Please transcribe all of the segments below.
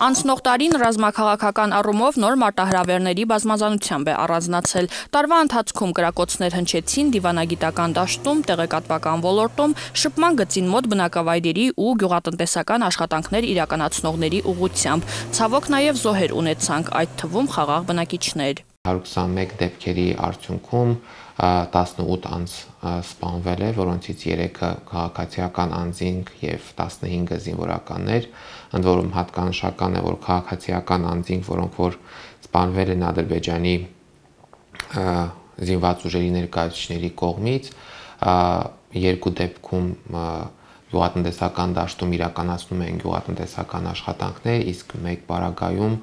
Անցնող տարին ռազմաքաղաքական առումով նոր մարտահրավերների բազմազանությամբ է առանձնացել։ Տարվա ընթացքում կրակոցներ հնչեցին դիվանագիտական դաշտում, տեղեկատվական ոլորտում, շփման գծին մոտ բնակավայրերի ու գյուղատնտեսական աշխատանքներ իրականացնողների ուղղությամբ։ Ցավոք նաև զոհեր ունեցանք, այդ թվում խաղաղ բնակիչներ։ 121 դեպքերի արդյունքում 18 անձ սպանվել է, որոնցից 3-ը քաղաքացիական անձինք եւ 15-ը զինվորականներ, ընդ որում հատկանշական է, որ քաղաքացիական անձինք, որոնք որ սպանվել են Ադրբեջանի զինված ուժերի ներկայացուցիչների կողմից, 2 դեպքում գյուղատնտեսական դաշտում իրականացնում են գյուղատնտեսական աշխատանքներ, իսկ 1 պարագայում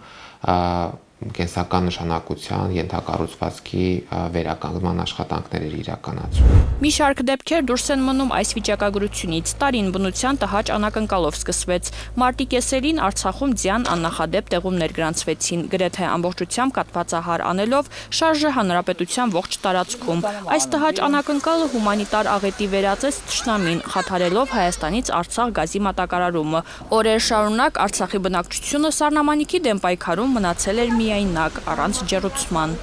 կենսական նշանակության ենթակառուցվածքի վերականգնման աշխատանքներ իրականացում։ Մի շարք դեպքեր դուրս են մնում այս վիճակագրությունից։ Տարին բնության տհաճ անակնկալով սկսվեց։ Մարտի կեսերին Արցախում ձյան աննախադեպ տեղումներ գրանցվեցին, գրեթե ամբողջությամբ կաթվածահար անելով շարժը հանրապետության ողջ տարածքում։ Այս տհաճ անակնկալը հումանիտար աղետի վերածեց թշնամին, խաթարելով Հայաստանից Արցախ գազի մատակարարումը։ Օրեր շարունակ Արցախի բնակչությունը սառնամանիքի դեմ պայքարում մնացել էր միայնակ, առանց ջեռուցման։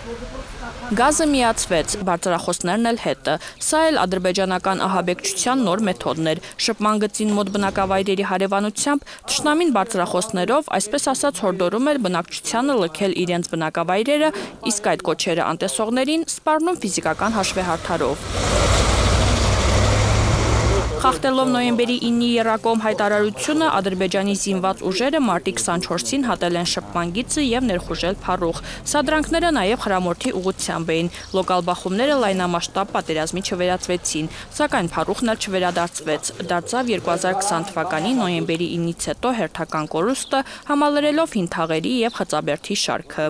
Գազը միացվեց, բարձրախոսներն էլ հետը։ Սա էլ ադրբեջանական ահաբեկչության նոր մեթոդն էր։ Շփման գծին մոտ բնակավայրերի հարևանությամբ թշնամին բարձրախոսներով, այսպես ասած, հորդորում էր բնակչությանը լքել իրենց բնակավայրերը, իսկ այդ կոչերը անտեսողներին սպառնում ֆիզիկական հաշվեհարդարով։ Խախտելով նոյեմբերի 9-ի եռակողմ հայտարարությունը, Ադրբեջանի զինված ուժերը մարտի 24-ին հատել են շփման գիծը եւ ներխուժել Փարուխ։ Սադրանքները նաեւ Խրամորթի ուղղությամբ էին։ Լոկալ բախումները լայնամասշտաբ պատերազմի չվերածվեցին, սակայն Փարուխն էլ չվերադարձվեց։ Դարձավ 2020 թվականի նոյեմբերի 9-ից հետո հերթական կորուստը, համալրելով հին թաղերի եւ խծաբերդի շարքը։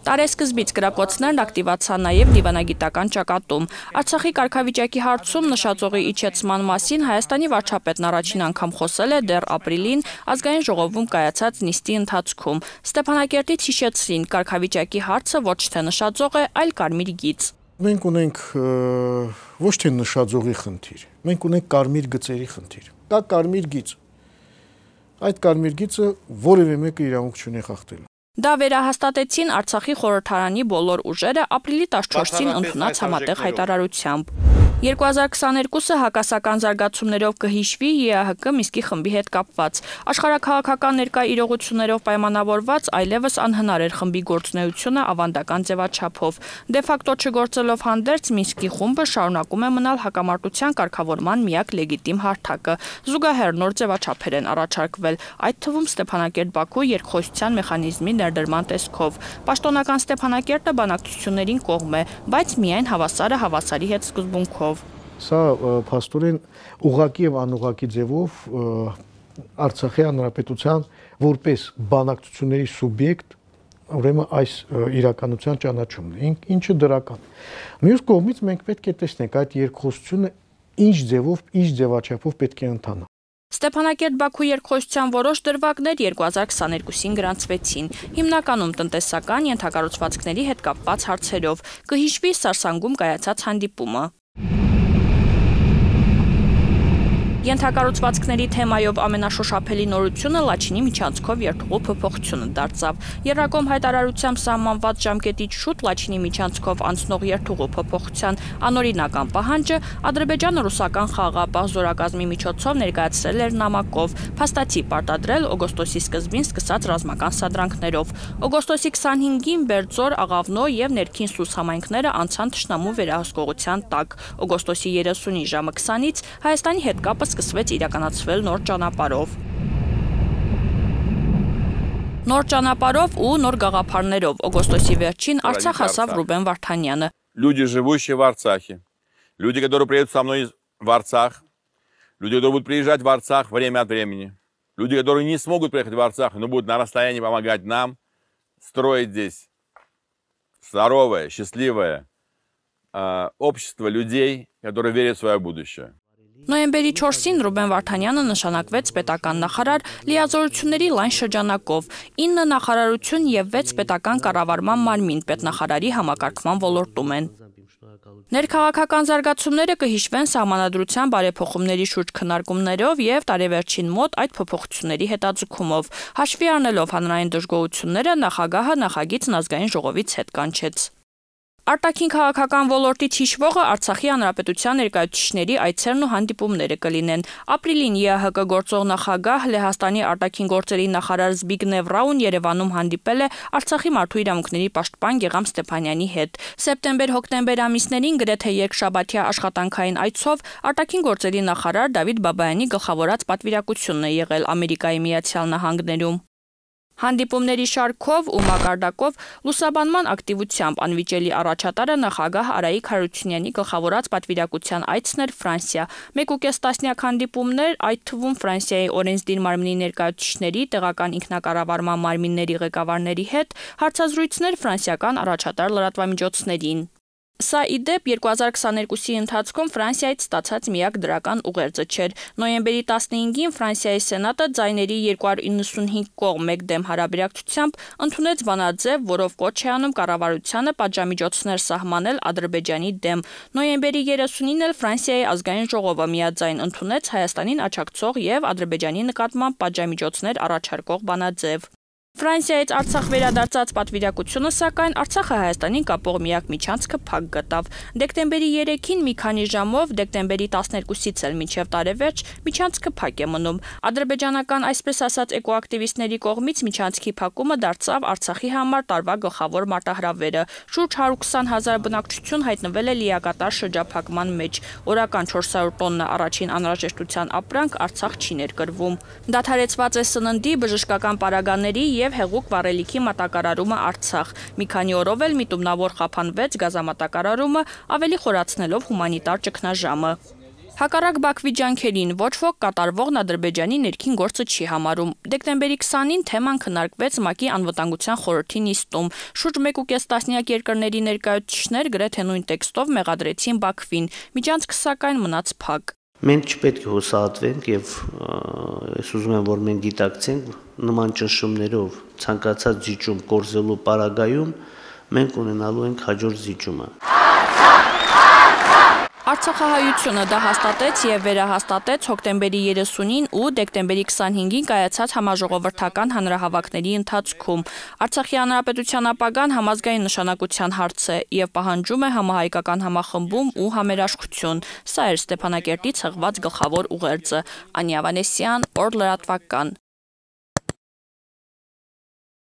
Տարեսկզբից կրակոցներն ակտիվացան նաև դիվանագիտական ճակատում։ Արցախի կարգավիճակի հարցում նշաձողի իջեցման մասին Հայաստանի վարչապետն առաջին անգամ խոսել է դեռ ապրիլին ազգային ժողովում կայացած նիստի ընթացքում։ Ստեփանակերտից հիշեցրին, կարգավիճակի հարցը ոչ թե նշաձող է, այլ կարմիր գիծ։ Մենք ունենք ոչ թե նշաձողի խնդիր, մենք ունենք կարմիր գծերի խնդիր։ Կա կարմիր գիծ։ Այդ կարմիր գիծը որևէ մեկը իրավունք չունի խախտել։ Դա վերահաստատեցին Արցախի խորհրդարանի բոլոր ուժերը ապրիլի 14-ին ընդունած համատեղ հայտարարությամբ։ 2022-ը հակասական զարգացումներով կհիշվի ԵԱՀԿ Միսկի խմբի հետ կապված։ Աշխարհաքաղաքական ներկա իրողություններով պայմանավորված այլևս անհնար էր խմբի գործունեությունը ավանդական ձևաչափով։ Դե ֆակտո չգործելով հանդերձ Միսկի խումբը շարունակում է մնալ հակամարտության կարգավորման միակ լեգիտիմ հարթակը։ Զուգահեռ նոր ձևաչափեր են առաջարկվել, այդ թվում Ստեփանակերտ-Բաքու երկխոսության մեխանիզմի ներդրման տեսքով։ Պաշտոնական Ստեփանակերտը բանակցություններին կողմ է, բայց միայն հավասարը հավասարի հետ սկզբունքով։ Սա փաստորեն ուղղակի եւ անուղղակի ձևով Արցախի հանրապետության որպես բանակցությունների սուբյեկտ ուրեմն այս իրականության ճանաչումն է, ինչը դրական։ Մյուս կողմից մենք պետք է տեսնենք այդ երկխոսությունը ինչ ձևով, ինչ ձևաչափով պետք է ընթանա։ Ստեփանակերտ-Բաքու երկխոսության որոշ դրվագներ 2022-ին գրանցվեցին, հիմնականում տնտեսական ենթակառուցվածքների հետ կապված հարցերով, կհիշվի Սարսանգում կայացած հանդիպումը։ Ենթակառուցվածքների թեմայով ամենաշոշափելի նորությունը Լաչինի միջանցքով երթուղու փոփոխությունը դարձավ։ Եռակողմ հայտարարությամբ սահմանված ժամկետից շուտ Լաչինի միջանցքով անցնող երթուղու փոփոխության անօրինական պահանջը ադրբեջան-ռուսական խաղաղապահ զորակազմի միջոցով ներկայացրել էր նամակով, փաստացի պարտադրել օգոստոսի սկզբին սկսած ռազմական սադրանքներով։ Օգոստոսի 25-ին Բերձոր, Աղավնո եւ Ներքին Սուս համայնքները անցան թշնամու վերահսկողության տակ։ Օգոստոսի 30-ի ժամը 20-ից Հայաստանի հետ կապը սկսվեց իրականացվել նոր ճանապարհով։ Նոր ճանապարհով ու նոր գաղափարներով օգոստոսի վերջին Արցախ հասավ Ռուբեն Վարդանյանը։ Люди, живущие в Арцахе, люди, которые приедут со мной в Арцах, люди, которые будут приезжать в Арцах время от времени, люди, которые не смогут приехать в Арцах, но будут на расстоянии помогать нам строить здесь здоровое, счастливое общество людей, которые верят в свое будущее. Նոյեմբերի 4-ին Ռուբեն Վարդանյանը նշանակվեց պետական նախարար լիազորությունների լայն շրջանակով, 9 նախարարություն եւ 6 պետական կառավարման մարմին պետնախարարի համակարգման ոլորտում են։ Ներքաղաքական զարգացումները կհիշվեն սահմանադրության բարեփոխումների շուրջ քննարկումներով եւ տարեվերջին մոտ այդ փոփոխությունների հետաձգումով։ Հաշվի առնելով հանրային դժգոհությունները, նախագահը նախագիծն ազգային ժողովից հետ կանչեց։ Արտաքին քաղաքական ոլորտից հիշվողը Արցախի հանրապետության ներկայացուցիչների այցերն ու հանդիպումները կլինեն։ Ապրիլին ԵԱՀԿ գործող նախագահ Լեհաստանի արտաքին գործերի նախարար Զբիգնև Ռաուն Երևանում հանդիպել է Արցախի մարդու իրավունքների պաշտպան Գեգամ Ստեփանյանի հետ։ Սեպտեմբեր-հոկտեմբեր ամիսներին գրեթե երկշաբաթյա աշխատանքային այցով արտաքին գործերի նախարար Դավիթ Բաբայանի գլխավորած պատվիրակությունն է եղել Ամերիկայի Միացյալ Նահանգներում։ Հանդիպումների շարքով ու մակարդակով լուսաբանման ակտիվությամբ անվիճելի առաջատարը նախագահ Արայիկ Հարությունյանի գլխավորած պատվիրակության այցն էր Ֆրանսիա։ 1.5 տասնյակ հանդիպումներ, այդ թվում Ֆրանսիայի օրենսդիր մարմնի ներկայացուցիչների, տեղական ինքնակառավարման մարմինների ղեկավարների հետ, հարցազրույցներ ֆրանսիական առաջատար լրատվամիջոցներին։ Սա ի դեպ 2022-ի ընթացքում Ֆրանսիայից ստացած միակ դրական ուղերձը չէր։ Նոյեմբերի 15-ին Ֆրանսիայի Սենատը ձայների 295 կողմ 1 դեմ հարաբերակցությամբ ընդունեց բանաձև, որով կոչ է անում կառավարությանը պատժամիջոցներ սահմանել Ադրբեջանի դեմ։ Նոյեմբերի 30-ին էլ Ֆրանսիայի ազգային ժողովը միաձայն ընդունեց Հայաստանին աջակցող եւ Ադրբեջանի նկատմամբ պատժամիջոցներ առաջարկող բանաձև։ Ֆրանսիայից Արցախ վերադարձած պատվիրակությունը, սակայն Արցախը Հայաստանին կապող միակ միջանցքը փակ գտավ։ Դեկտեմբերի 3-ին մի քանի ժամով, դեկտեմբերի 12-ից էլ մինչև տարեվերջ միջանցքը փակ է մնում։ Ադրբեջանական, այսպես ասած, էկոակտիվիստների կողմից միջանցքի փակումը դարձավ Արցախի համար տարվա գլխավոր մարտահրավերը։ Շուրջ 120,000 բնակչություն հայտնվել է լիակատար շրջափակման մեջ։ Օրական 400 տոննա առաջին անհրաժեշտության ապրանք Արցախ չի ներկրվում։ Դադարեցված է սննդի, բժշկական պարագաների եւ հեղուկ վառելիքի մատակարարումը Արցախ։ Մի քանի օրով էլ միտումնավոր խափանվեց գազամատակարարումը, ավելի խորացնելով հումանիտար ճգնաժամը։ Հակառակ Բաքվի ջանքերին ոչ ոք կատարվողն Ադրբեջանի ներքին գործը չի համարում։ Դեկտեմբերի 20-ին թեման քննարկվեց ՄԱԿ-ի անվտանգության խորհրդի նիստում։ Շուրջ 1.5 տասնյակ երկրների ներկայացուցիչներ գրեթե նույն տեքստով մեղադրեցին Բաքվին։ Միջանցքը սակայն մնաց փակ։ Մենք չպետք է հուսահատվենք եւ ես ուզում եմ, որ մենք գիտակցենք նման ճնշումներով ցանկացած զիջում կորզելու պարագայում մենք ունենալու ենք հաջորդ զիջումը։ Արցախահայությունը դա հաստատեց եւ վերահաստատեց հոկտեմբերի 30-ին ու դեկտեմբերի 25-ին կայացած համաժողովրդական հանրահավաքների ընթացքում։ Արցախի հանրապետության ապագան համազգային նշանակության հարց է եւ պահանջում է համահայկական համախմբում ու համերաշխություն։ Սա էր Ստեփանակերտից հղված գլխավոր ուղերձը։ Անի Ավանեսյան, Օր լրատվական։